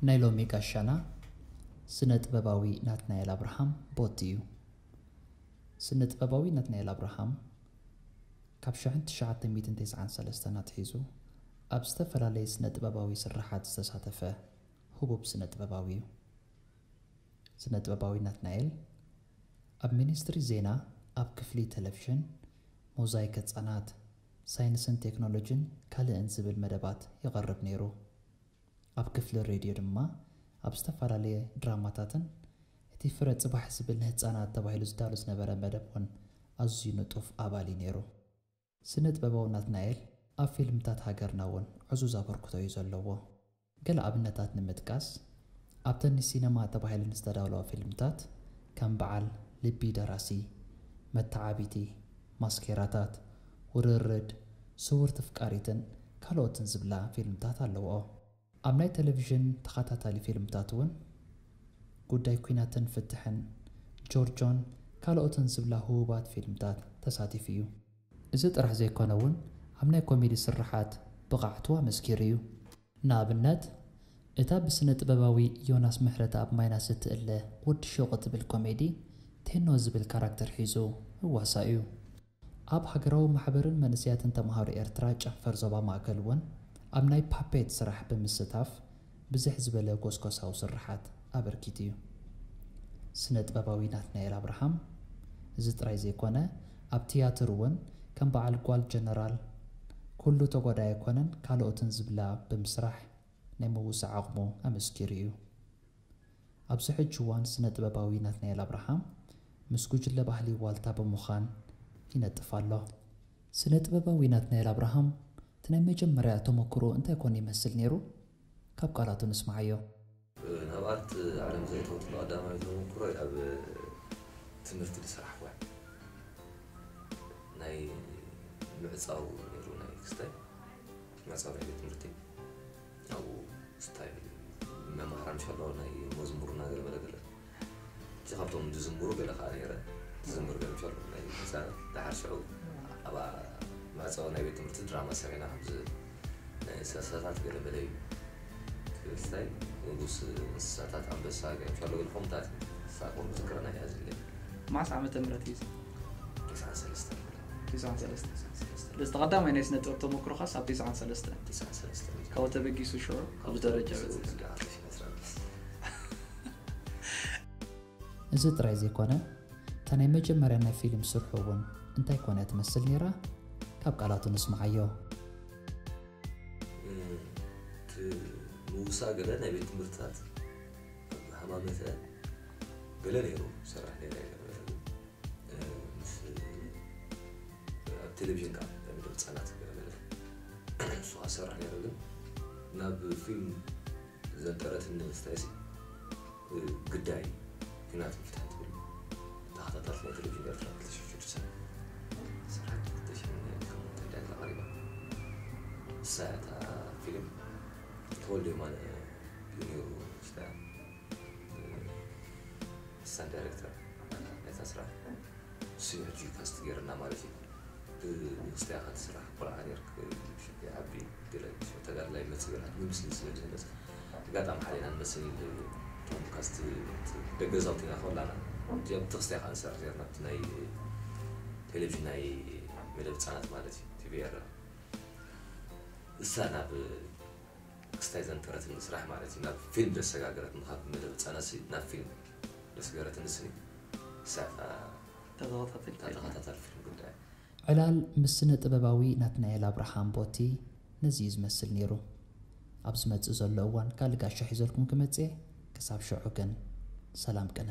ናይ ሎሚ ጋሻና ስነ ጥበባዊ ናትናኤል ኣብርሃም ቦቲ እዩ። ስነ ጥበባዊ ናትናኤል ኣብርሃም ካብ ሽሕን ትሽዓተ ሚእትን ተስዓን ሰለስተን ኣትሒዙ ኣብ ዝተፈላለየ ስነ ጥበባዊ ስርሓት ዝተሳተፈ ህቡብ ስነ ጥበባዊ እዩ። ስነ ጥበባዊ ናትናኤል ኣብ ሚኒስትሪ ዜና ኣብ ክፍሊ ቴሌቪዥን፣ ሞዛይክ ህጻናት፣ ሳይንስን ቴክኖሎጂን ካልእን ዝብል መደባት ይቐርብ ነይሩ። ኣብ ክፍሊ ሬድዮ ድማ ኣብ ዝተፈላለየ ድራማታትን እቲ ፍረ ጽባሕ ዝብል ንህጻናት ተባሂሉ ዝዳሎ ዝነበረ መደብ እውን ኣዝዩ ንጡፍ ኣባል እዩ ነይሩ። ስነ ጥበባዊ ናትናኤል ኣብ ፊልምታት ሃገርና እውን ዕዙዝ ኣበርክቶ እዩ ዘለዎ። ገለ ኣብነታት ንምጥቃስ፣ ኣብተን ንሲነማ ተባሂለን ዝተዳለዋ ፊልምታት ከም በዓል ልቢ ደራሲ፣ መተዓቢቲ፣ ማስኬራታት፣ ውርርድ፣ ስውርቲ ፍቃሪትን ካልኦትን ዝብላ ፊልምታት ኣለውኦ። ኣብ ናይ ቴሌቪዥን ተኸታታሊ ፊልምታት እውን ጉዳይ ኲናትን ፍትሕን፣ ጆርጆን ካልኦትን ዝብላ ህቡባት ፊልምታት ተሳቲፉ እዩ። እዚ ጥራሕ ዘይኮነ እውን ኣብ ናይ ኮሜዲ ስርሓት ብቕዓቱ ኣመስኪሩ እዩ። ንኣብነት እታ ብስነ ጥበባዊ ዮናስ ምሕረተኣብ ማይናስ እትእለ ወዲ ሹቕ እትብል ኮሜዲ ቴኖ ዝብል ካራክተር ሒዙ ህዋሳ እዩ። ኣብ ሃገራዊ ማሕበርን መንእሰያትን ተምሃሮ ኤርትራ ጨንፈር ዞባ ማእከል እውን ኣብ ናይ ፓፔት ስራሕ ብምስታፍ ብዝሕ ዝበለ ጎስጎሳዊ ስርሓት ኣበርኪቱ እዩ። ስነ ጥበባዊ ናትናኤል ኣብርሃም እዚ ጥራይ ዘይኮነ ኣብ ትያትር እውን ከም በዓል ጓል ጀነራል፣ ኩሉ ተጓዳኢ ኣይኮነን ካልኦትን ዝብላ ብምስራሕ ናይ ምውሳእ ዓቕሙ ኣመስኪሩ እዩ። ኣብዚ ሕጂ እዋን ስነ ጥበባዊ ናትናኤል ኣብርሃም ምስ ጉጅለ ባህሊ ዋልታ ብምዃን ይነጥፍ ኣሎ። ስነ ጥበባዊ ናትናኤል ኣብርሃም እቲ ናይ መጀመርያ ተመክሮ እንታይ ኮን ይመስል ነይሩ? ካብ ቃላቱ ንስማዓዮ። ናብ ኣርት ዓለም ዘእተወትሉ ቀዳማይ ተመክሮ ኣብ ትምህርቲ ዝሰራሕኩ ናይ ምዕፃው ነይሩ ናይ ክስታይ ምዕፃው ናይ ቤት ትምህርቲ ኣብኡ ስታይ መማህራን ሸሎ ናይ መዝሙርና ገለመለ ገለ እቲ ካብቶም ዝዝምሩ ገለ ከዓ ነይረ ዝዝምር ገለ ሸሎ ናይ ህፃናት ደሓር ሽዑ ኣብ መዕፀዊ ናይ ቤት ትምህርቲ ድራማ ሰሪሕና ከምዚ ናይ እንስሳታት ገለመለ እዩ ትግራይ ንጉስ እንስሳታት ኣንበሳ ገለ ሸሎ ገለ ከምታት ሳቆም ዝክረና እያ ዝለ ማስ ዓመተ ምህረት እዩ ተስዓን ሰለስተን ተስዓን ሰለስተ እዚ ቀዳማይ ናይ ስነ ጥበብ ተመክሮኻስ ኣብ ተስዓን ሰለስተን ተስዓን ሰለስተን ካብኡ ተበጊሱ ሽዑ ኣብዚ ደረጃ በፅሐ እዚ ጥራይ ዘይኮነ እታ ናይ መጀመርያ ናይ ፊልም ስርሑ እውን እንታይ ኮነ ትመስል ነይራ? ካብ ቃላቱ ንስምዓዮ። ምውሳ ገለ ናይ ቤት ትምህርትታት ሃማመተ ገለ ነይሩ ሰራሕ ነይረ ምስ ኣብ ቴሌቪዥን ከዓ መደብ ህፃናት ገለ ገለ ንሱ ከዓ ሰራሕ ነይረ ግን ናብ ፊልም ዘንጠረትኒ ስታይሲ ግዳይ ፊናት ምፍታሕ ትብል ተኸታታልት ናይ ቴሌቪዥን ኤርትራ ክልተ ሽሕን ሽዱሽተን ስራሕ ክልተ ሽሕን ሸሞንተን እያ ተቐሪባ። እሳ እያ እታ ፊልም ተወልደ የማነ እዩ ነይሩ ሽታ እሳን ዳይሬክተር ናይታ ስራሕ እሱ እዩ ሕጂ ካስት ገይርና ማለት እዩ። ብክስቲያ ከትስራሕ ቆልዓ ኔርክ ዓቢ ገለ ተጋድላይ መጽእ ገለ ንምስሊ ስለ ዝህነጽ ኣጋጣሚ ሓሊና ንመስል እቶም ካስት ደገዛውቲና ከላና እዚኦም ተክስቲያ ከዓ ንሰርሕ ኔርና ኣብቲ ናይ ቴሌቪዥን ናይ መደብ ህጻናት ማለት እዩ ቲቪ ኤረ እሳ ናብ ክስታይ ዘንጠረትኒ ስራሕ ማለት እዩ ናብ ፊልም ዘሰጋገረትኒ ካብ መደብ ህጻናት ናብ ፊልም ዘስገረትኒ ስኒ እሳ ተኸታተል ተኸታታል ፊልም ጉዳይ ዕላል ምስ ስነ ጥበባዊ ናትናኤል ኣብርሃም ቦቲ ነዚ እዩ ዝመስል ነይሩ። ኣብ ዝመጽእ ዘሎ እዋን ካልእ ጋሻ ሒዘልኩም ክመጽእ እየ። ክሳብ ሽዑ ግን ሰላም ቅነ።